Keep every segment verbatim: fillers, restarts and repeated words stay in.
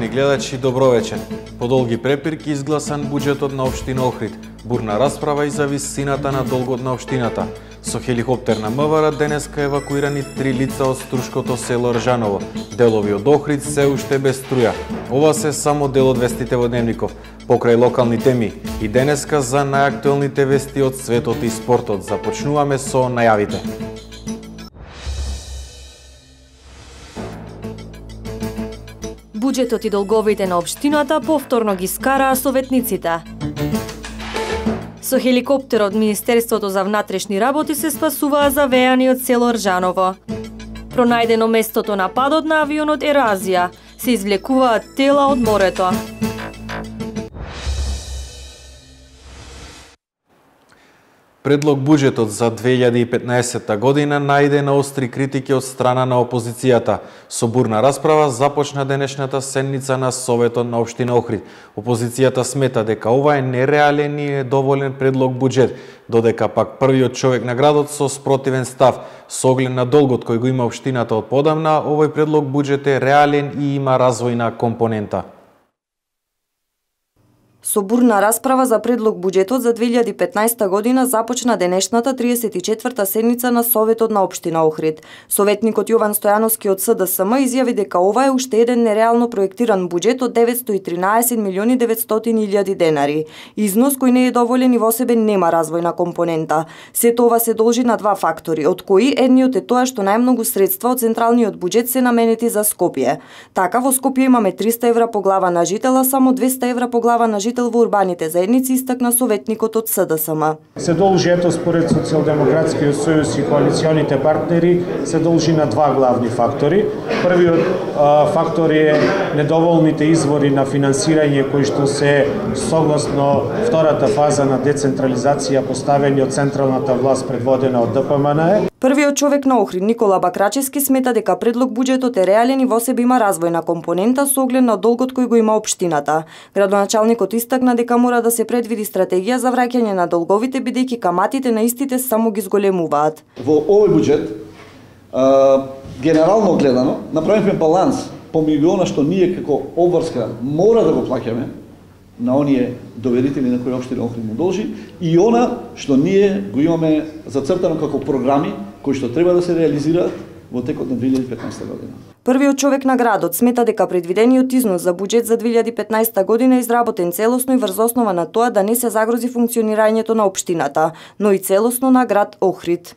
Почитувани гледачи, добро вечер. По долги препирки изгласан буџетот на општина Охрид. Бурна расправа и за висината на долгот на општината. Со хеликоптер на МВР денеска евакуирани три лица од Струшкото село Ржаново. Делови од Охрид се уште без струја. Ова се само дел од вестите во Дневников. Покрај локални теми и денеска за најактуелните вести од светот и спортот. Започнуваме со најавите. Буџетот и долговите на општината повторно ги скараа советниците. Со хеликоптер од Министерството за внатрешни работи се спасуваа завеани од село Ржаново. Пронајдено местото на падот на авионот Еразија. Се извлекуваат тела од морето. Предлог буџетот за две илјади и петнаесетта година најде на остри критики од страна на опозицијата. Со бурна расправа започна денешната седница на Советот на општина Охрид. Опозицијата смета дека ова е нереален и недоволен предлог буџет, додека пак првиот човек на градот со спротивен став. Со оглед на долгот кој го има општината од подамна, овој предлог буџет е реален и има развојна компонента. Со бурна расправа за предлог буџетот за две илјади и петнаесетта година започна денешната триесет и четврта седница на Советот на општина Охрид. Советникот Јован Стојановски од С Д С М изјави дека ова е уште еден нереално проектиран буџет од деветсто и тринаесет милиони и деветстотини илјади денари. Износ кој не е доволен и во себе нема развојна компонента. Сето ова се должи на два фактори, од кои едниот е тоа што најмногу средства од централниот буџет се наменети за Скопје. Така во Скопје имаме триста евра по глава на жител, а само двеста евра по глава на жител во урбаните заедници, истакна советникот од С Д С М. Се должи, ето според Социјалдемократскиот сојуз и коалиционите партнери, се должи на два главни фактори. Првиот а, фактор е недоволните извори на финансирање кои што се согласно втората фаза на децентрализација поставени од централната власт предводена од Д П М Н Е. Првиот човек на Охрид, Никола Бакрачевски, смета дека предлог буџетот е реален и во себе има развојна компонента со оглед на долгот кој го има општината. Градоначалникот истакна дека мора да се предвиди стратегија за враќање на долговите, бидејќи каматите на истите само ги зголемуваат. Во овој буџет, а, генерално гледано, направивме баланс помеѓу она што ние како обврска мора да го плаќаме на оние доверители на кои општина Охрид му должи и она што ние го имаме зацртано како програми кои што треба да се реализираат во текот на две илјади и петнаесетта година. Првиот човек на градот смета дека предвидениот износ за буџет за две илјади и петнаесетта година е изработен целосно и врз основа на тоа да не се загрози функционирањето на општината, но и целосно на град Охрид.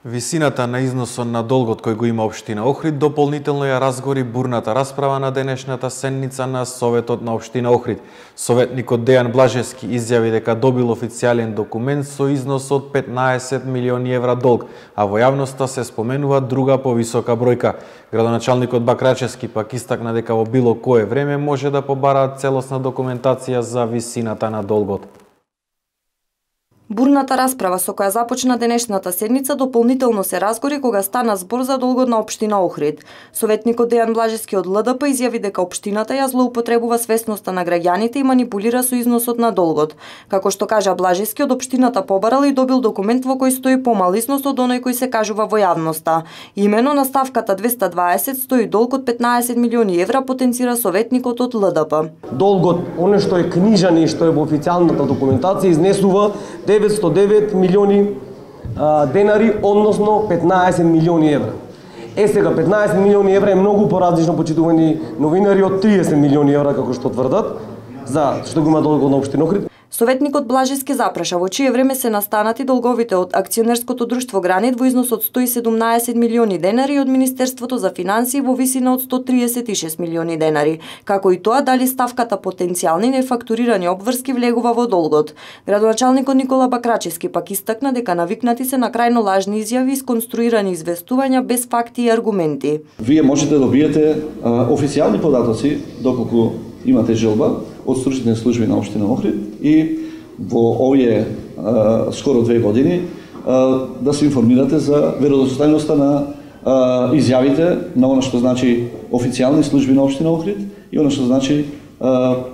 Висината на износот на долгот кој го има општина Охрид дополнително ја разгори бурната расправа на денешната седница на Советот на општина Охрид. Советникот Дејан Блажевски изјави дека добил официјален документ со износ од петнаесет милиони евра долг, а во јавноста се споменува друга повисока бројка. Градоначалникот Бакрачевски пак истакна дека во било кое време може да побараат целосна документација за висината на долгот. Бурната расправа со која започна денешната седница дополнително се разгори кога стана збор за долгот на општина Охрид. Советникот Дејан Блажевски од Л Д П изјави дека општината ја злоупотребува свесноста на граѓаните и манипулира со износот на долгот. Како што кажа Блажевски, од општината побарал и добил документ во кој стои помал износ од оној кој се кажува во јавноста. Имено на ставката двеста дваесет стои долг од петнаесет милиони евра, потенцира советникот од Л Д П. Долгот, оно што е книжан и што е во официјалната документација, изнесува деветсто девет милиони а, денари, односно петнаесет милиони евра. Е сега петнаесет милиони евра е многу поразлично, почитувани новинари, од триесет милиони евра како што тврдат, за што го има долгот на општина Охрид. Советникот Блажевски запраша во чие време се настанати долговите од акционерското друштво Гранит во износ од сто и седумнаесет милиони денари и од Министерството за финансии во висина од сто триесет и шест милиони денари, како и тоа дали ставката потенцијални нефактурирани обврски влегува во долгот. Градоначалникот Никола Бакрачевски пак истакна дека навикнати се на крајно лажни изјави и сконструирани известувања без факти и аргументи. Вие можете да добиете а, официјални податоци доколку имате желба од стручните служби на општина Охрид и во овие а, скоро две години а, да се информирате за веродостојноста на а, изјавите на она што значи официјални служби на општина Охрид и она што значи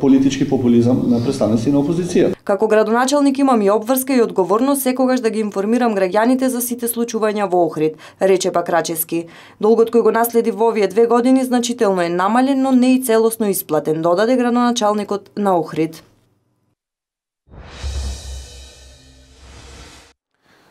политички популизам на представници на опозиција. Како градоначалник имам и обврска и одговорност секогаш да ги информирам граѓаните за сите случувања во Охрид, рече пак Рачевски. Долгот кој го наследи во овие две години значително е намален, но не и целосно исплатен, додаде градоначалникот на Охрид.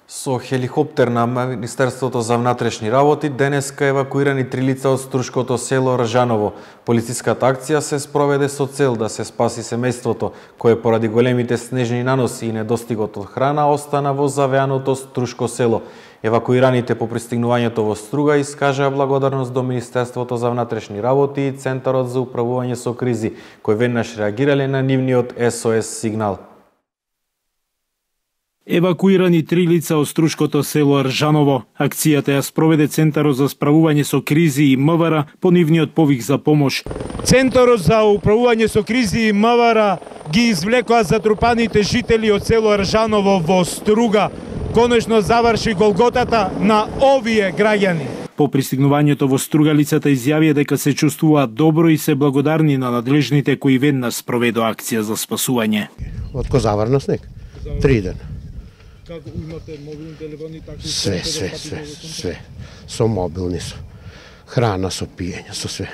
Со хеликоптер на Министерството за внатрешни работи денеска евакуирани три лица од Струшкото село Ржаново. Полициската акција се спроведе со цел да се спаси семејството, кое поради големите снежни наноси и недостигот од храна остана во завеаното Струшко село. Евакуираните по пристигнувањето во Струга искажаа благодарност до Министерството за внатрешни работи и Центарот за управување со кризи, кои веднаш реагирале на нивниот С О С сигнал. Евакуирани три лица од Струшкото село Ржаново. Акцијата ја спроведе Центарот за справување со кризи и М В Р по нивниот повик за помош. Центарот за управување со кризи и М В Р ги извлекоа затрупаните жители од село Ржаново во Струга. Конечно заврши голготата на овие граѓани. По пристигнувањето во Струга лицата изјавија дека се чувствуваат добро и се благодарни на надлежните кои веднаш спроведоа акција за спасување. Од ко заврна снег? Три дена. Како имате мобилни телефони, такси? Све, све, све, све. Со мобилни, со храна, со пиење, со све.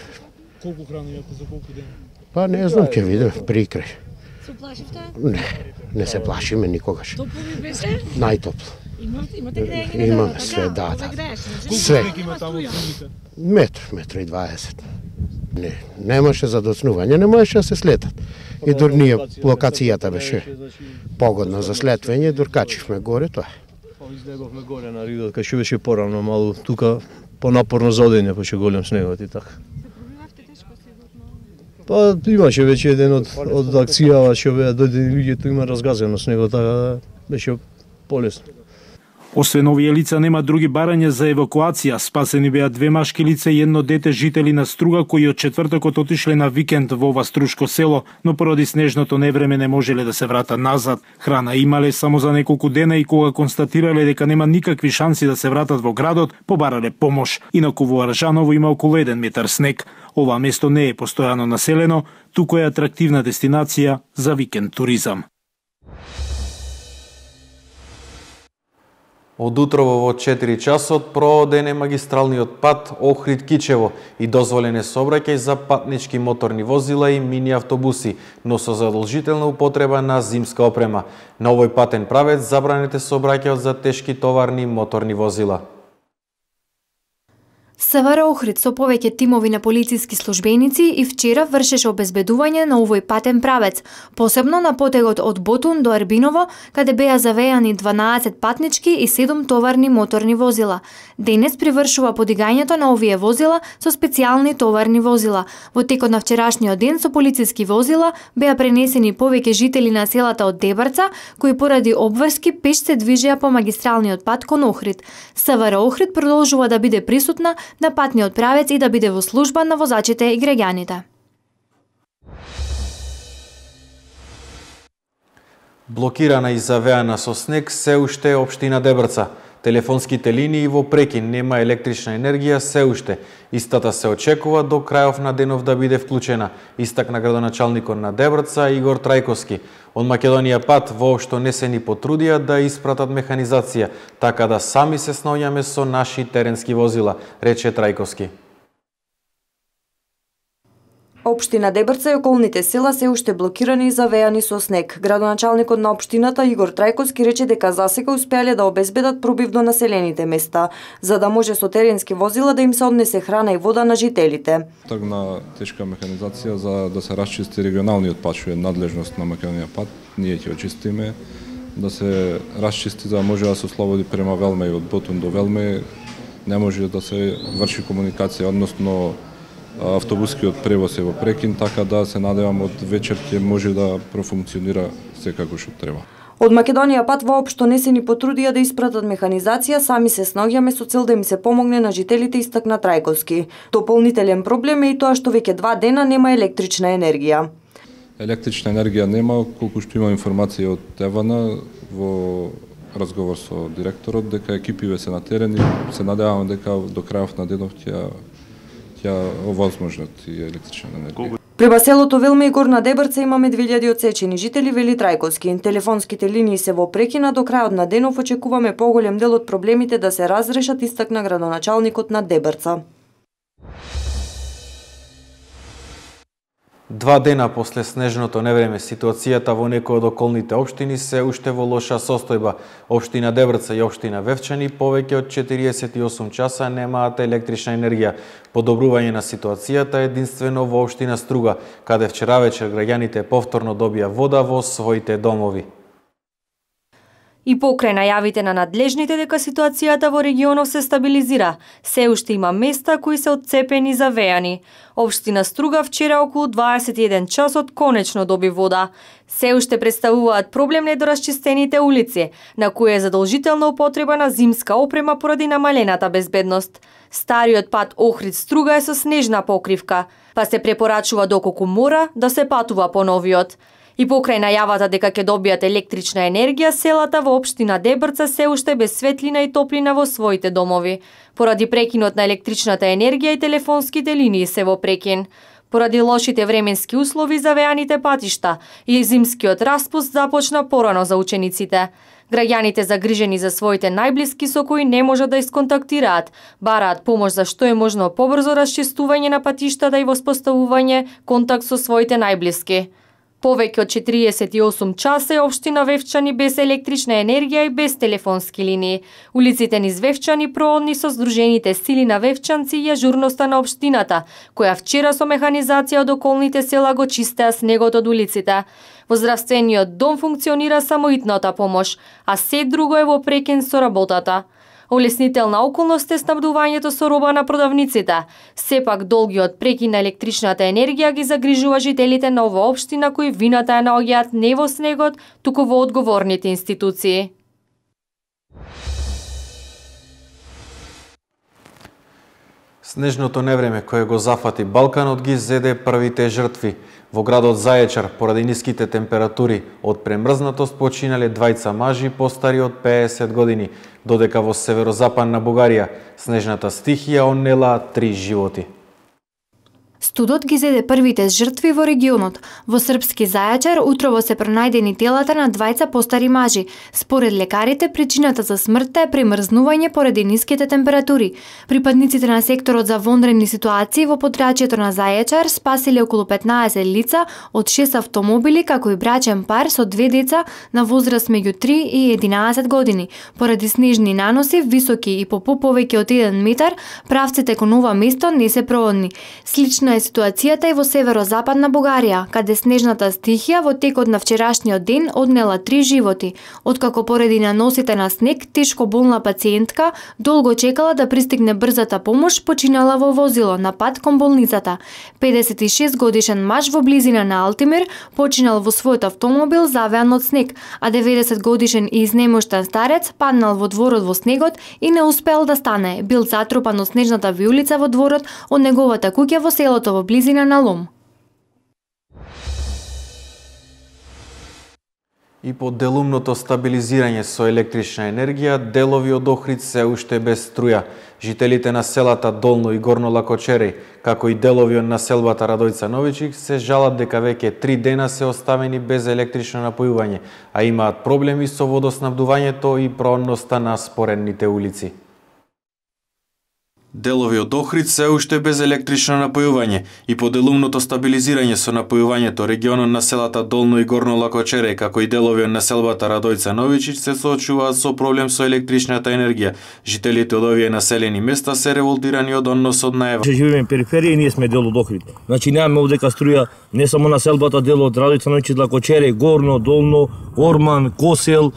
Колку храна имате за колку дена? Па не знам, ќе видим, прикрај. Се плашивте? Не, не се плашиме никогаш. Топло ви беше? Најтопло. Имате, имате грејање? Имаме све, да, да. Све. Колку има таму цените? Метр, метр и дваесет. Не, немаше за доцнување, не можеше да се слетат. И дур ние, локацијата беше погодна за слетвење, дур качивме горе, тоа е. Излеговме горе на ридот, кај што беше порано малу, тука понапорно за одење, па ше голем снегот и така. Се пробивавте тешко снегот? Па имаше веќе еден од, од акцијава, што беа дојде луѓето, има разгазено снегот, така беше полесно. Освен овие лица нема други барања за евакуација. Спасени беа две машки лица и едно дете жители на Струга кои од четвртокот отишле на викенд во ова Струшко село, но поради снежното невреме не можеле да се вратат назад. Храна имале само за неколку дена и кога констатирале дека нема никакви шанси да се вратат во градот, побарале помош. Инаку во Ржаново има околу еден метар снег. Ова место не е постојано населено, туку е атрактивна дестинација за викенд туризам. Од утрово во четири часот прооден е магистралниот пат Охрид-Кичево и дозволен е сообраќај за патнички моторни возила и мини автобуси, но со задолжителна употреба на зимска опрема. На овој патен правец забранете сообраќајот за тешки товарни моторни возила. С В Р Охрид со повеќе тимови на полициски службеници и вчера вршеше обезбедување на овој патен правец, посебно на потегот од Ботун до Ербиново, каде беа завејани дванаесет патнички и седум товарни моторни возила. Денес привршува подигањето на овие возила со специјални товарни возила. Во текот на вчерашниот ден со полициски возила беа пренесени повеќе жители на селата од Дебарца, кои поради обврски пеш се движеа по магистралниот пат кон Охрид. С В Р Охрид продолжува да биде присутна на патниот правец и да биде во служба на возачите и граѓаните. Блокирана и завеана со снег се уште е општина Дебрца. Телефонските линии во прекин, нема електрична енергија се уште. Истата се очекува до крајов на денов да биде вклучена, истакна градоначалникот на Дебрца Игор Трајковски. Од Македонија пат воопшто не се ни потрудија да испратат механизација, така да сами се снаоѓаме со наши теренски возила, рече Трајковски. Општина Дебрца и околните села се уште блокирани и завеани со снег. Градоначалникот на општината Игор Трајковски рече дека засега успеале да обезбедат пробив до населените места, за да може со теренски возила да им се однесе храна и вода на жителите. Тргна тешка механизација за да се расчисти регионалниот пат, што е надлежност на Македонија пат. Ние ќе очистиме, да се расчисти за да може да се ослободи према Велме и од Ботун до Велме. Не може да се врши комуникација, односно автобускиот превоз е во прекин, така да се надевам од вечер ќе може да профункционира секако што треба. Од Македонија пат воопшто не се ни потрудија да испратат механизација, сами се снаоѓаме со цел да им се помогне на жителите, истакна Трајковски. Дополнителен проблем е и тоа што веќе два дена нема електрична енергија. Електрична енергија нема, колку што има информација од Евана во разговор со директорот, дека екипиве се на терен и се надеваме дека до крајов на денов ќе ќе овозможнат и електрична енергија. Преба селото Велме и Горна Дебрца имаме две илјади отсечени жители, вели Трајковски. Телефонските линии се во прекина, до крајот на денов очекуваме поголем дел од проблемите да се разрешат, истакна градоначалникот на Дебрца. Два дена после снежното невреме, ситуацијата во некои од околните општини се уште во лоша состојба. Општина Дебрца и општина Вевчани повеќе од четириесет и осум часа немаат електрична енергија. Подобрување на ситуацијата единствено во општина Струга, каде вчера вечер граѓаните повторно добија вода во своите домови. И покрај најавите на надлежните дека ситуацијата во регионов се стабилизира, се уште има места кои се отцепени за вејани. Општина Струга вчера околу дваесет и еден часот конечно доби вода. Се уште представуваат проблем недоразчистените улици, на кои е задолжителна употреба на зимска опрема поради намалената безбедност. Стариот пат Охрид-Струга е со снежна покривка, па се препорачува доколку мора да се патува по новиот. И покрај најавата дека ќе добијат електрична енергија, селата во општина Дебрца се уште без светлина и топлина во своите домови. Поради прекинот на електричната енергија и телефонските линии се во прекин. Поради лошите временски услови за вејаните патишта и зимскиот распуст започна порано за учениците. Граѓаните загрижени за своите најблиски со кои не можат да исконтактираат, бараат помош за што е можно побрзо расчистување на патиштата и воспоставување контакт со своите најблиски. Повеќе од четириесет и осум часа е општина Вевчани без електрична енергија и без телефонски линии. Улиците низ Вевчани проодни со Сдружените сили на вевчанци и ажурноста на општината, која вчера со механизација од околните села го чистеа снегот од улиците. Во здравствениот дом функционира само итната помош, а се друго е во прекин со работата. Олеснителна околност е снабдувањето со роба на продавниците. Сепак долгиот прекин на електричната енергија ги загрижува жителите на оваа општина кои вината ја наоѓаат не во снегот, туку во одговорните институции. Снежното невреме кое го зафати Балканот ги зеде првите жртви. Во градот Зајачар, поради ниските температури, од премрзнатост починале двајца мажи постари од пеесет години, додека во северозападна Бугарија снежната стихија однела три животи. Студот ги зеде првите жртви во регионот. Во српски Зајачар утрово се пронајдени телата на двајца постари мажи. Според лекарите, причината за смртта е премрзнување поради ниските температури. Припадниците на секторот за вонредни ситуации во подрачјето на Зајачар спасиле околу петнаесет лица од шест автомобили, како и брачен пар со две деца на возраст меѓу три и единаесет години. Поради снежни наноси, високи и по повеќе од еден метар, правците кон ова место не се проодни. Слична е ситуацијата и во северозападна Бугарија, каде снежната стихија во текот на вчерашниот ден однела три животи. Откако поради наносите на снег, тешко болна пациентка долго чекала да пристигне брзата помош, починала во возило на пат кон болницата. педесет и шест годишен маж во близина на Алтимир починал во својот автомобил завеан од снег, а деветдесет годишен и изнемоштен старец паднал во дворот во снегот и не успел да стане. Бил затрупан од снежната виулица во дворот од неговата куќа во селото во близина на Лом. И по делумното стабилизирање со електрична енергија, делови од Охрид се уште без струја. Жителите на селата Долно и Горно Лакочереј, како и делови од населбата Радојца Новичик, се жалат дека веќе три дена се оставени без електрично напојување, а имаат проблеми со водоснабдувањето и проодноста на споредните улици. Делови од Охрид се уште без електрично напојување и по делумното стабилизирање со напојувањето регионот на селата Долно и Горно Лакочереј, како и делови од населбата Радојца Новичич се соочуваат со проблем со електричната енергија. Жителите од овие населени места се револтирани од односот на Ева. Живееме периферија и ние сме дел од Охрид. Значи немаме овдека струја не само населбата, дел од Радојца Новичич, Лакочереј, Горно, Долно, Орман, Косел,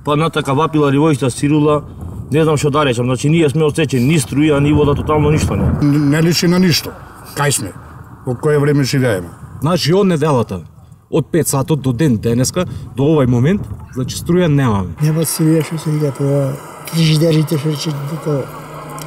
па натака Вапила, Ривојшта, Сирула. Не знам што да речам, значи ние сме отсечени, ни струја, ни вода, тотално ништо не. Не личи на ништо. Кај сме? Во кое време живееме? Значи од неделата, од пет сатот до ден денеска, до овај момент, значи струја немаме. Нема струја што се иде по фрижидерите, што рече дека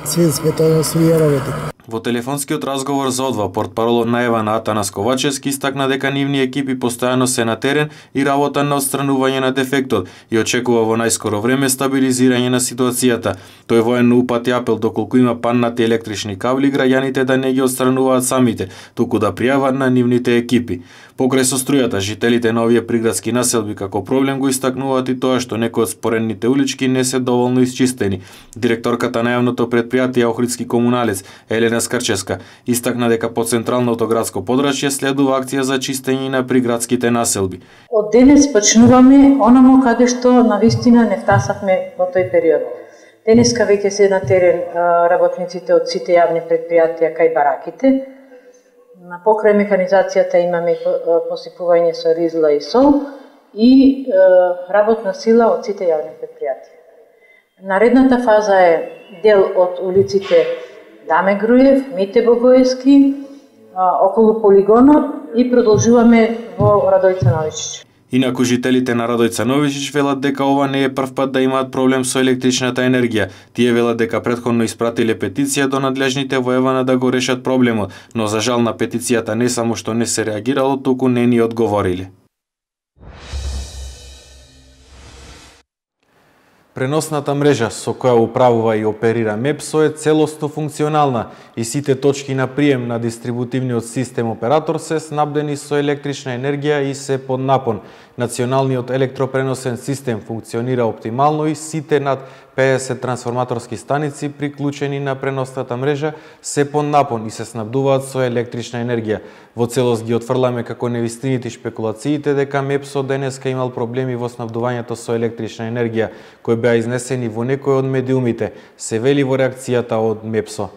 све светоно струја работи. Во телефонскиот разговор за Одва, портпаролот на Евана Атанас Ковачевски истакна дека нивни екипи постојано се на терен и работа на отстранување на дефектот и очекува во најскоро време стабилизирање на ситуацијата. Тој военно упати апел доколку има паннати електрични кабли граѓаните да не ги отстрануваат самите, туку да пријават на нивните екипи. Покрај со струјата, жителите на овие приградски населби како проблем го истакнуваат и тоа што некои од споредните улички не се доволно исчистени. Директорката на јавното претпријатие Охридски комуналец Елена Скрчевска истакна дека по централното градско подрачје следува акција за чистење на приградските населби. Од денес почнуваме онамо каде што навистина не втасавме во тој период. Денеска веќе се на терен работниците од сите јавни претпријатија кај бараките. На покрај механизацијата имаме посипување со ризла и сол и работна сила од сите јавни претпријатија. Наредната фаза е дел од улиците Даме Груев, Мите Богоевски, околу полигонот и продолжуваме во Радојца Новичич. Инаку жителите на Радојца Новичич велат дека ова не е прв пат да имаат проблем со електричната енергија. Тие велат дека претходно испратиле петиција до надлежните во Евана да го решат проблемот, но за жал на петицијата не само што не се реагирало, туку не ни одговориле. Преносната мрежа со која управува и оперира МЕПСО е целосно функционална и сите точки на прием на дистрибутивниот систем оператор се снабдени со електрична енергија и се под напон. Националниот електропреносен систем функционира оптимално и сите над педесет трансформаторски станици приклучени на преносната мрежа се под напон и се снабдуваат со електрична енергија. Во целост ги отфрламе како невистините шпекулациите дека МЕПСО денеска имал проблеми во снабдувањето со електрична енергија, кои беа изнесени во некои од медиумите, се вели во реакцијата од МЕПСО.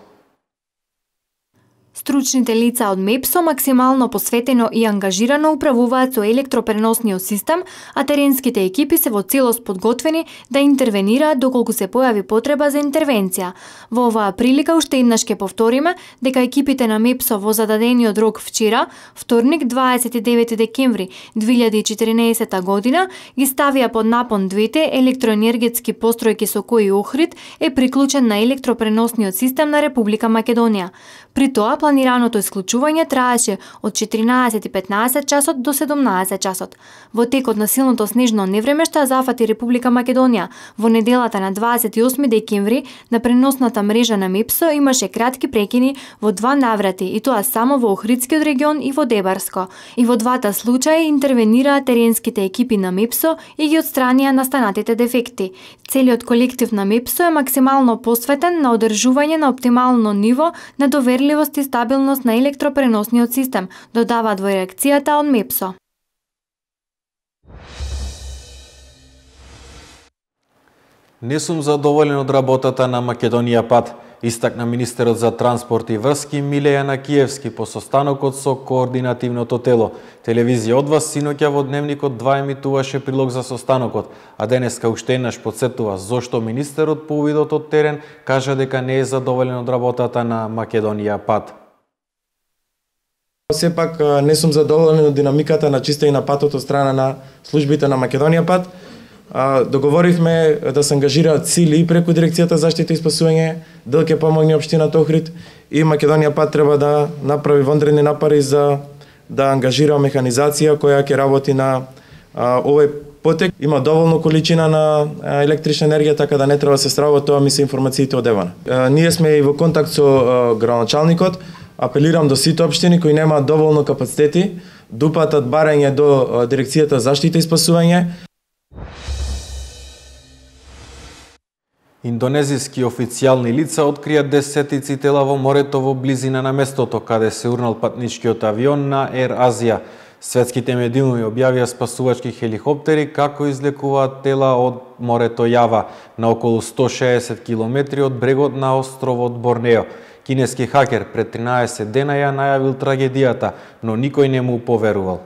Стручните лица од МЕПСО максимално посветено и ангажирано управуваат со електропреносниот систем, а теренските екипи се во целост подготвени да интервенираат доколку се појави потреба за интервенција. Во оваа прилика уште еднаш ќе повториме дека екипите на МЕПСО во зададениот рок вчера, вторник дваесет и девети декември две илјади и четиринаесета година, ги ставија под напон двете електроенергетски постројки со кои Охрид е приклучен на електропреносниот систем на Република Македонија. При тоа планираното исклучување траеше од четиринаесет и петнаесет часот до седумнаесет часот. Во текот на силното снежно невреме што зафати Република Македонија, во неделата на дваесет и осми декември на преносната мрежа на МЕПСО имаше кратки прекини во два наврати, и тоа само во Охридскиот регион и во Дебарско. И во двата случаи интервенираа теренските екипи на МЕПСО и ги отстранија настанатите дефекти. Целиот колектив на МЕПСО е максимално посветен на одржување на оптимално ниво на доверливост и стабилност на електропреносниот систем, додаваат во реакцијата од МЕПСО. Не сум задоволен од работата на Македонија Пат, истакна министерот за транспорт и врски Милејана Киевски по состанокот со координативното тело. Телевизија од вас синоќа во Дневникот два емитуваше прилог за состанокот, а денеска уште еднаш потсетува зошто министерот по увидот од терен кажа дека не е задоволен од работата на Македонија Пат. Сепак не сум задоволен од динамиката на чистење на патот од страна на службите на Македонија Пат. Договоривме да се ангажираат сили и преку Дирекцијата за заштита и спасување, дел ќе помогне општината Охрид и Македонија Пат треба да направи вонредни напори за да ангажира механизација која ќе работи на а, овој потек. Има доволно количина на а, електрична енергија, така да не треба да се стравува, тоа ми се информациите од Евана. А, ние сме и во контакт со а, градоначалникот. Апелирам до сите општини кои немаат доволно капацитети да упатат барање до а, Дирекцијата за заштита и спасување. Индонезиски официјални лица открија десетици тела во морето во близина на местото каде се урнал патничкиот авион на Ер Азија. Светските медиуми објавија спасувачки хеликоптери како излекуваат тела од морето Јава на околу сто шеесет километри од брегот на островот Борнео. Кинески хакер пред тринаесет дена ја најавил трагедијата, но никој не му поверувал.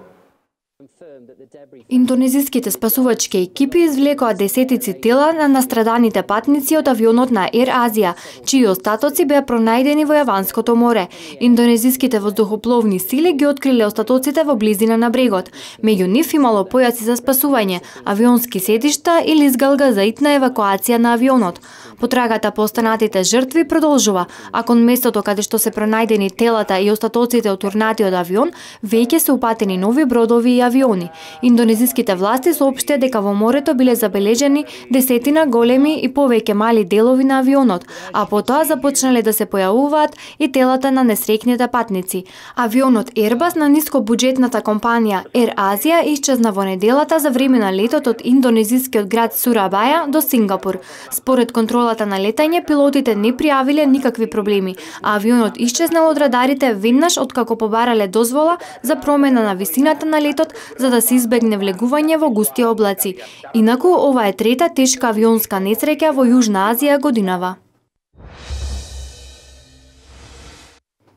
Индонезиските спасувачки екипи извлекоа десетици тела на настраданите патници од авионот на Ер Азија, чии остатоци беа пронајдени во Јаванското море. Индонезиските воздухопловни сили ги откриле остатоците во близина на брегот. Меѓу нив имало појаци за спасување, авионски седишта и лизгалга за итна евакуација на авионот. Потрагата по останатите жртви продолжува, а кон местото каде што се пронајдени телата и остатоците од урнатиот авион, веќе се упатени нови бродови и авиони. Индонезиските власти соопштија дека во морето биле забележени десетина големи и повеќе мали делови на авионот, а потоа започнале да се појавуваат и телата на несреќните патници. Авионот Airbus на нискобуџетната компанија Ер Азија исчезна во неделата за време на летот од индонезискиот град Сурабаја до Сингапур. Според контролата на летање, пилотите не пријавиле никакви проблеми, а авионот исчезнал од радарите веднаш откако побарале дозвола за промена на висината на летот за да се избегне влегување во густи облаци. Инаку, ова е трета тешка авионска несреќа во Јужна Азија годинава.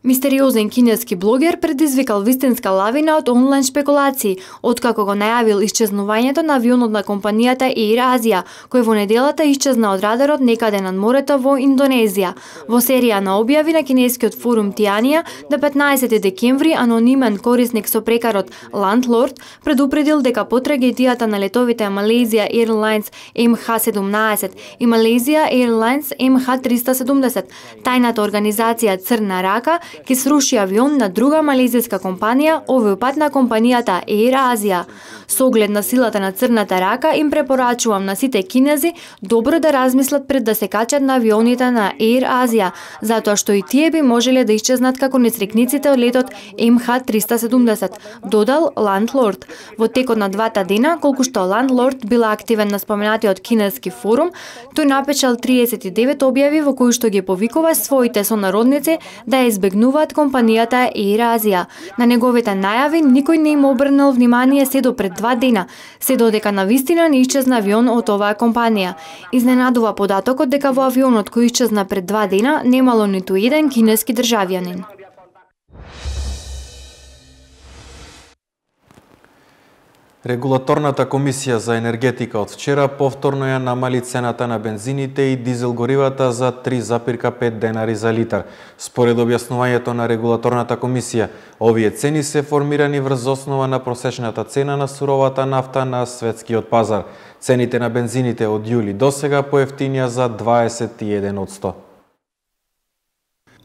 Мистериозен кинески блогер предизвикал вистинска лавина од онлайн шпекулации, откако го најавил исчезнувањето на авионот на компанијата Air Asia, кој во неделата исчезна од радарот некаде над морето во Индонезија. Во серија на објави на кинескиот форум Тианија, на петнаесети декември анонимен корисник со прекарот Landlord предупредил дека по трагедијата на летовите Malaysia Airlines Ем Ха седумнаесет и Malaysia Airlines Ем Ха триста седумдесет, тајната организација Црна рака ке сруши авион на друга малезијска компанија, овој пат на компанијата Air Asia. Со оглед на силата на Црната рака, им препорачувам на сите кинези добро да размислат пред да се качат на авионите на Air Asia, затоа што и тие би можеле да исчезнат како несрекниците од летот Ем Ха триста седумдесет, додал Landlord. Во текот на двата дена, колку што Landlord била активен на споменатиот кинески форум, тој напечал триесет и девет објави во кои што ги повикува своите сонародници да ја избегнуваат компанијата Air Asia. На неговите најави никој не им обрнал внимание се до пред два дена, се додека навистина не исчезна авион од оваа компанија. Изненадува податокот дека во авионот кој исчезна пред два дена немало ниту еден кинески државјанин. Регулаторната комисија за енергетика од вчера повторно ја намали цената на бензините и дизел горивата за три запирка пет денари за литар. Според објаснувањето на регулаторната комисија, овие цени се формирани врз основа на просечната цена на суровата нафта на светскиот пазар. Цените на бензините од јули досега поевтинија за дваесет и еден одсто.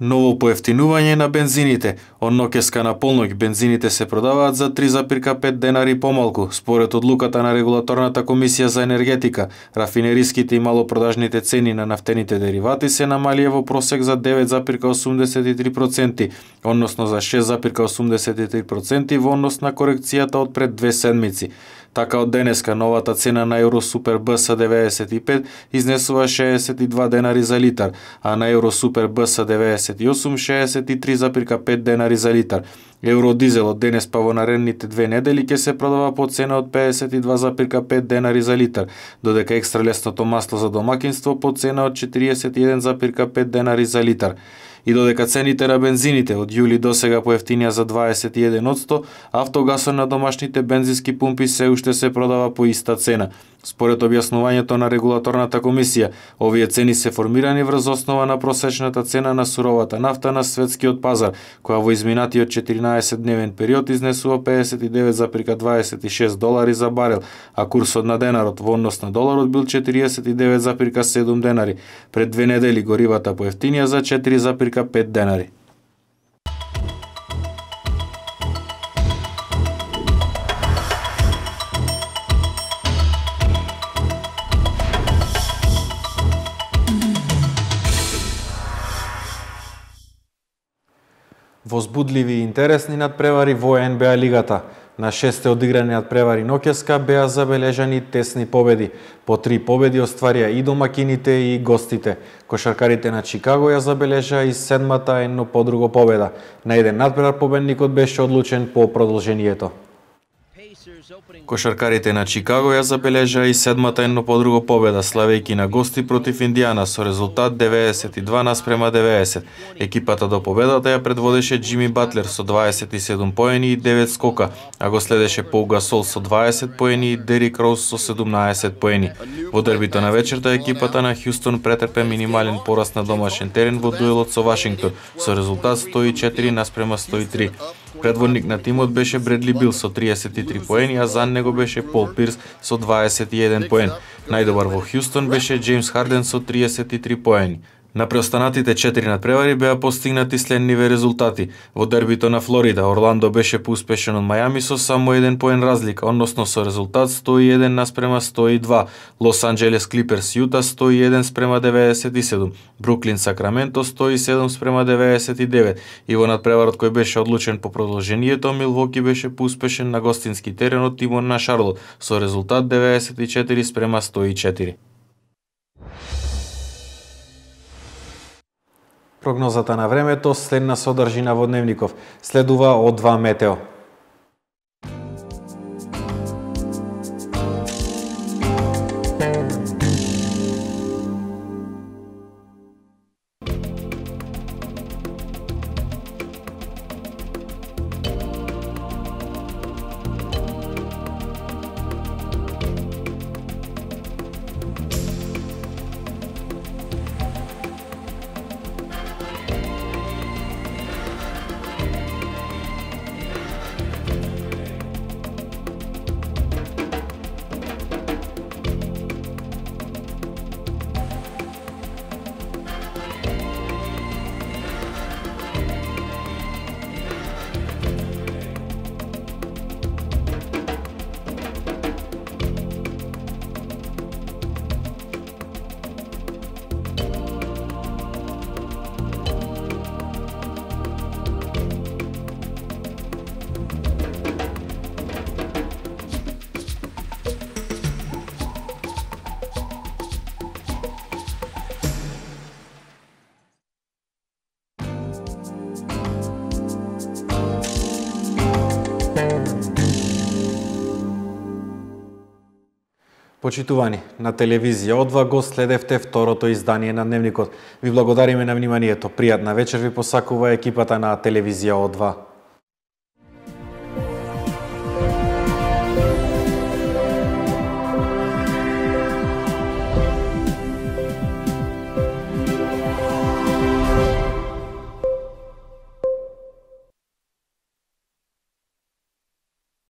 Ново поевтинување на бензините. Од ноќеска на полноќ бензините се продаваат за три запирка пет денари помалку. Според одлуката на регулаторната комисија за енергетика, рафинериските и малопродажните цени на нафтените деривати се намалија во просек за девет запирка осумдесет и три проценти, односно за шест запирка осумдесет и три проценти во однос на корекцијата од пред две седмици. Така од денеска новата цена на Евро Супер Б С деветдесет и пет изнесува шеесет и два денари за литар, а на Евро Супер Б С деветдесет и осум шеесет и три запирка пет денари за литар. Евро дизел од денес па во наредните две недели ќе се продава по цена од педесет и два запирка пет денари за литар, додека екстра лесното масло за домакинство по цена од четириесет и еден запирка пет денари за литар. И додека цените на бензините од јули досега поевтинија за дваесет и еден одсто, автогасот на домашните бензински пумпи се уште се продава по иста цена. Според објаснувањето на регулаторната комисија, овие цени се формирани врз основа на просечната цена на суровата нафта на светскиот пазар, која во изминатиот четиринаесет дневен период изнесува педесет и девет запирка дваесет и шест долари за барел, а курсот на денарот во однос на доларот бил четириесет и девет запирка седум денари. Пред две недели горивата поевтинија за четири запирка пет денари. Возбудливи и интересни надпревари во Н Б А лигата. На шесте одиграни надпревари ноќеска беа забележани тесни победи. По три победи остварија и домакините и гостите. Кошаркарите на Чикаго ја забележаа и седмата едно по друго победа. На еден надпревар победникот беше одлучен по продолжението. Кошаркарите на Чикаго ја забележаа и седмата едно по друго победа, славејќи на гости против Индијана со резултат деветдесет и два наспрема деветдесет. Екипата до победата ја предводеше Џими Батлер со дваесет и седум поени и девет скока, а го следеше Пол Гасол со дваесет поени и Дерик Роуз со седумнаесет поени. Во дербито на вечерта екипата на Хјустон претрпе минимален пораст на домашен терен во дуелот со Вашингтон со резултат сто и четири наспрема сто и три. Предводник на тимот беше Бредли Бил со триесет и три поени, а за него беше Пол Пирс со дваесет и еден поен. Најдобар во Хјустон беше Џејмс Харден со тридесет и три поени. На преостанатите четири надпревари беа постигнати следниве резултати. Во дербито на Флорида, Орландо беше поуспешен од Мајами со само еден поен разлика, односно со резултат сто и еден наспрема сто и два. Лос Анџелес Клиперс Јута сто и еден спрема деветдесет и седум. Бруклин Сакраменто сто и седум спрема деветдесет и девет. И во надпреварот кој беше одлучен по продолжението, Милвоки беше поуспешен на гостински терен од тимот на Шарлот со резултат деветдесет и четири спрема сто и четири. Прогнозата на времето, следна содржина во дневников. Следува од два метео. Почитувани, на телевизија О два го следевте второто издание на Дневникот. Ви благодариме на вниманието. Пријатна вечер ви посакува екипата на телевизија О два.